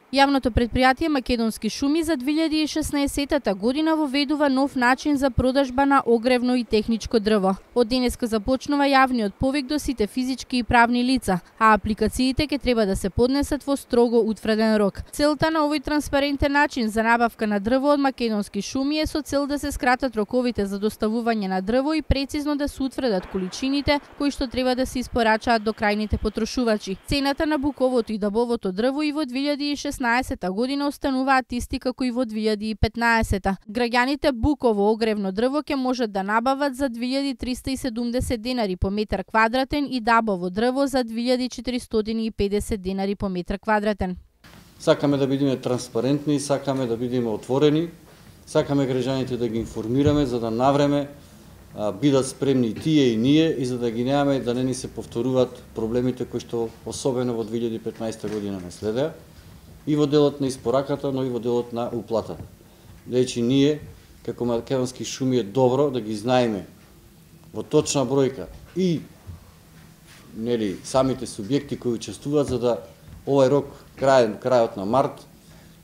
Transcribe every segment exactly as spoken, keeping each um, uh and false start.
Јавното предпријатие Македонски шуми за две илјади и шеснаесетта година воведува нов начин за продажба на огревно и техничко дрво. Од денеска започнува јавниот повик до сите физички и правни лица, а апликациите ќе треба да се поднесат во строго утврден рок. Целта на овој транспарентен начин за набавка на дрво од Македонски шуми е со цел да се скратат роковите за доставување на дрво и прецизно да се утврдат количините кои што треба да се испорачаат до крајните потрошувачи. Цената на буковото и дабовото дрво и во две илјади и шеснаесетта година остануваат исти како и во две илјади и петнаесетта. Граѓаните буково огревно дрво ќе можат да набават за две илјади триста и седумдесет денари по метар квадратен и дабово дрво за две илјади четиристотини и педесет денари по метар квадратен. Сакаме да бидеме транспарентни, сакаме да бидеме отворени, сакаме граѓаните да ги информираме за да навреме а, бидат спремни и тие и ние и за да ги немаме да не ни се повторуваат проблемите кои што особено во две илјади и петнаесетта година не следеа и во делот на испораката, но и во делот на уплатата. Значи ние како Македонски шуми е добро да ги знаеме во точна бројка и нели самите субјекти кои учествуваат за да овај рок крај крајот на март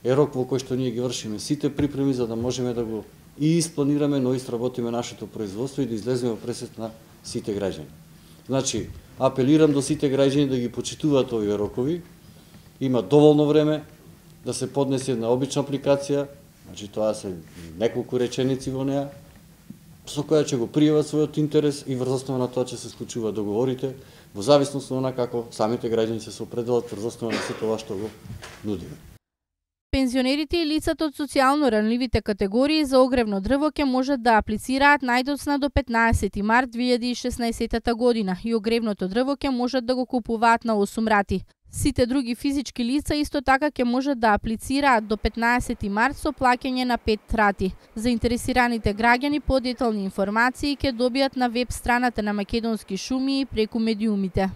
е рок во кој што ние ги вршиме сите припреми за да можеме да го и испланираме, но и сработиме нашето производство и да излеземе во пресет на сите граѓани. Значи, апелирам до сите граѓани да ги почитуваат овие рокови. Има доволно време да се поднесе една обична апликација, значи тоа се неколку реченици во неа, со која ќе го пријават својот интерес и врз основа на тоа ќе се склучуваат договорите, во зависност на како самите граѓани ќе се определат врз основа на сето ова што го нудиме. Пензионерите и лицата од социјално ранливите категории за огревно дрво ќе можат да аплицираат најдоцна до петнаесети март две илјади и шеснаесетта година и огревното дрво ќе можат да го купуваат на осум рати. Сите други физички лица исто така ќе можат да аплицираат до петнаесети март со плаќање на пет рати. Заинтересираните граѓани подетални информации ќе добијат на веб страната на Македонски шуми и преку медиумите.